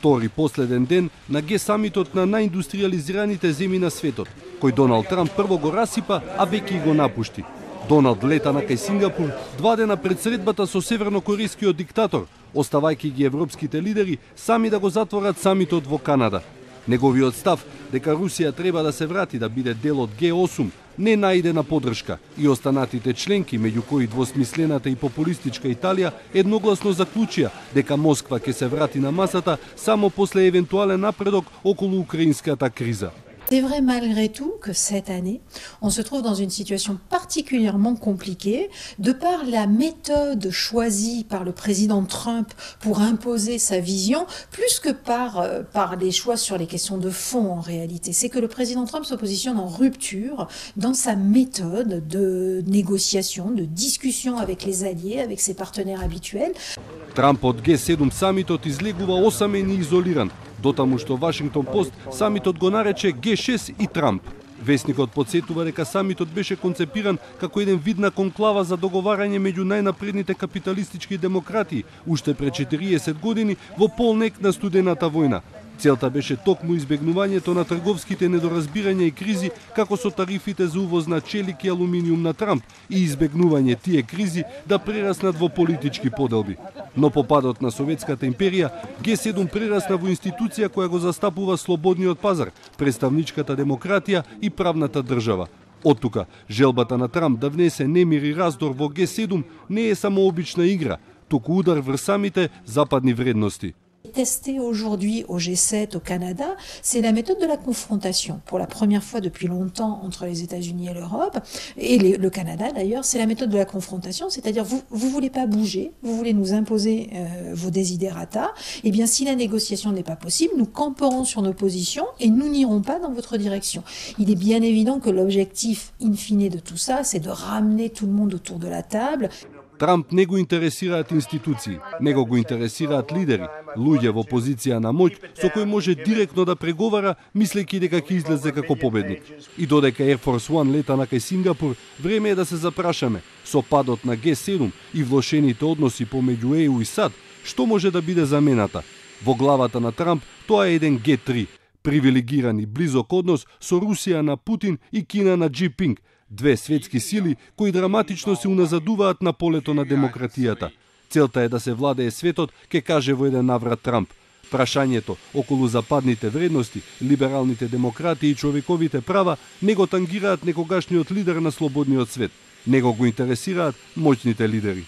втори последен ден на Г-самитот на најиндустриализираните земји на светот, кој Доналд Трамп прво го расипа, а веќе го напушти. Доналд лета на кај Сингапур 2 дена пред средбата со севернокорејскиот диктатор, оставајќи ги европските лидери сами да го затворат самитот во Канада. Неговиот став дека Русија треба да се врати да биде дел од Г8 не најде на поддршка и останатите членки, меѓу кои двосмислената и популистичка Италија, едногласно заклучија дека Москва ќе се врати на масата само после евентуален напредок околу украинската криза. C'est vrai malgré tout que cette année, on se trouve dans une situation particulièrement compliquée de par la méthode choisie par le président Trump pour imposer sa vision, plus que par les choix sur les questions de fond en réalité. C'est que le président Trump se positionne en rupture dans sa méthode de négociation, de discussion avec les alliés, avec ses partenaires habituels. Трамп од Г7 самитот излегува осамен и изолиран, дотаму што Вашингтон Пост самитот го нарече Г6 и Трамп. Весникот подсетува дека самитот беше концепиран како еден вид на конклава за договарање меѓу најнапредните капиталистички демократии уште пред 40 години во полнек на студената војна. Целта беше токму избегнувањето на трговските недоразбирања и кризи, како со тарифите за увоз на челик и алуминиум на Трамп и избегнување тие кризи да прераснат во политички поделби. Но по падот на Советската империја, Г7 прерасна во институција која го застапува слободниот пазар, представничката демократија и правната држава. Оттука, желбата на Трамп да внесе немир и раздор во Г7 не е само обична игра, туку удар врз самите западни вредности. Testé aujourd'hui au G7 au Canada, c'est la méthode de la confrontation. Pour la première fois depuis longtemps entre les États-Unis et l'Europe, et le Canada d'ailleurs, c'est la méthode de la confrontation, c'est-à-dire vous voulez pas bouger, vous voulez nous imposer vos desiderata, et bien si la négociation n'est pas possible, nous camperons sur nos positions et nous n'irons pas dans votre direction. Il est bien évident que l'objectif in fine de tout ça, c'est de ramener tout le monde autour de la table. Трамп не го интересираат институции, него го интересираат лидери, луѓе во позиција на моќ со кој може директно да преговара, мислејќи дека ќе излезе како победник. И додека Air Force One лета на кај Сингапур, време е да се запрашаме, со падот на Г7 и влошените односи помеѓу ЕУ и САД, што може да биде замената? Во главата на Трамп тоа е еден Г3, привилегиран и близок однос со Русија на Путин и Кина на Джи Пинг, две светски сили кои драматично се уназадуваат на полето на демократијата. Целта е да се владее светот, ке каже во еден наврат Трамп. Прашањето околу западните вредности, либералните демократии и човековите права не го тангираат некогашниот лидер на слободниот свет. Него го интересираат моќните лидери.